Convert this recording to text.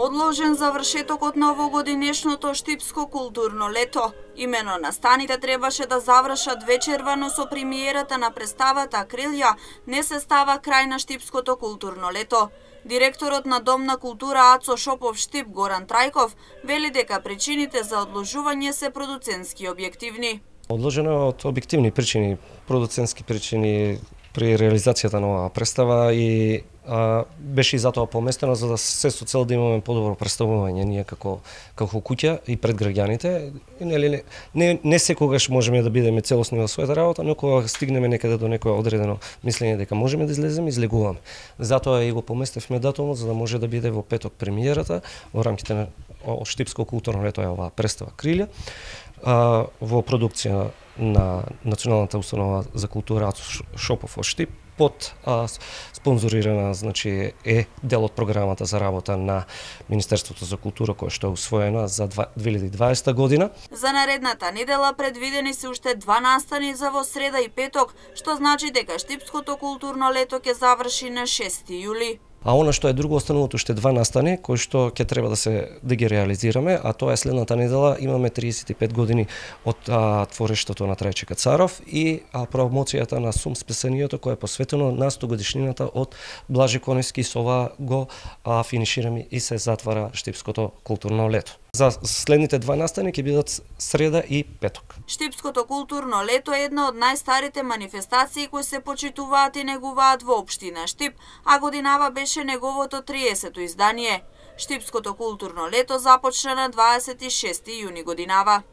Одложен завршетокот на овогодинешното штипско културно лето. Имено настаните требаше да завршат вечервано со премиерата на представата Крилја, не се става крај на штипското културно лето. Директорот на Дом на култура Ацо Шопов Штип Горан Трајков вели дека причините за одложување се продуцентски и објективни. Одложено е од објективни причини, продуцентски причини при реализацијата на оваа представа и беше и затоа поместено за да се со цел да имаме подобро представување ние како куќа и пред граѓаните. Не секогаш можеме да бидеме целосни во својата работа, но кога стигнеме некаде до некое одредено мислење дека можеме да излеземе, излегуваме. Затоа и го поместевме датумот за да може да биде во петок премиерата во рамките на Штипско културно лето е оваа представа Крилја во продукција на Националната установа за култура Ацо Шопов од Штип под спонзорирана, значи е дел од програмата за работа на Министерството за култура која што е усвоена за 2020 година. За наредната недела предвидени се уште 2 настани за во среда и петок, што значи дека Штипското културно лето ќе заврши на 6 јули. А она што е друго, остануваат уште 2 настани кои што ќе треба да ги реализираме, а тоа е следната недела имаме 35 години од творештето на Трајче Кацаров и промоцијата на Сум спесението кој е посветено на 100 годишнината од Блажи Коневски. Со ова го финишираме и се затвара Штипското културно лето. За следните 2 настани ќе бидат среда и петок. Штипското културно лето е една од најстарите манифестации кои се почитуваат и негуваат во општина Штип, а годинава беше неговото 30-то издание. Штипското културно лето започна на 26 јуни годинава.